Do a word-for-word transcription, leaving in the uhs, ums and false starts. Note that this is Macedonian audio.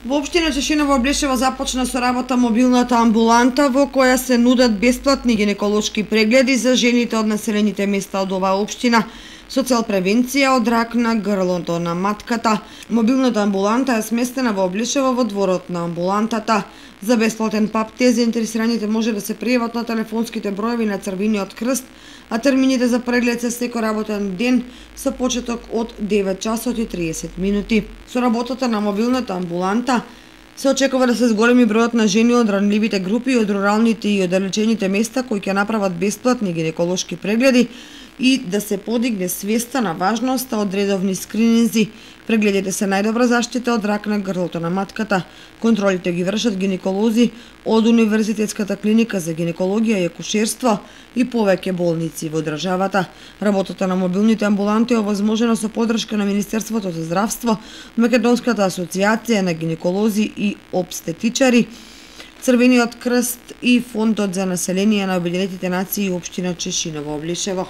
Во општина Чешиново Облешево започна со работа мобилната амбуланта во која се нудат бесплатни гинеколошки прегледи за жените од населените места од оваа општина со цел превенција од рак на грлото на матката. Мобилната амбуланта е сместена во Облешево во дворот на амбулантата. За бесплатен пап те заинтересираните може да се пријават на телефонските броеви на Црвениот крст, а термините за преглед се секој работен ден со почеток од девет часот и триесет минути. Со работата на мобилната амбуланта се очекува да се зголеми бројот на жени од ранливите групи, од руралните и оддалечените места кои ќе направат бесплатни гинеколошки прегледи и да се подигне свеста на важноста од редовни скрининзи. Прегледите се најдобра заштита од рак на грлото на матката. Контролите ги вршат гинеколози од Универзитетската клиника за гинекологија и акушерство и повеќе болници во државата. Работата на мобилните амбуланти е овозможена со поддршка на Министерството за здравство, Македонската асоциација на гинеколози и обстетичари, Црвениот крст и Фондот за население на Обединетите нации и општина Чешиново Облешево.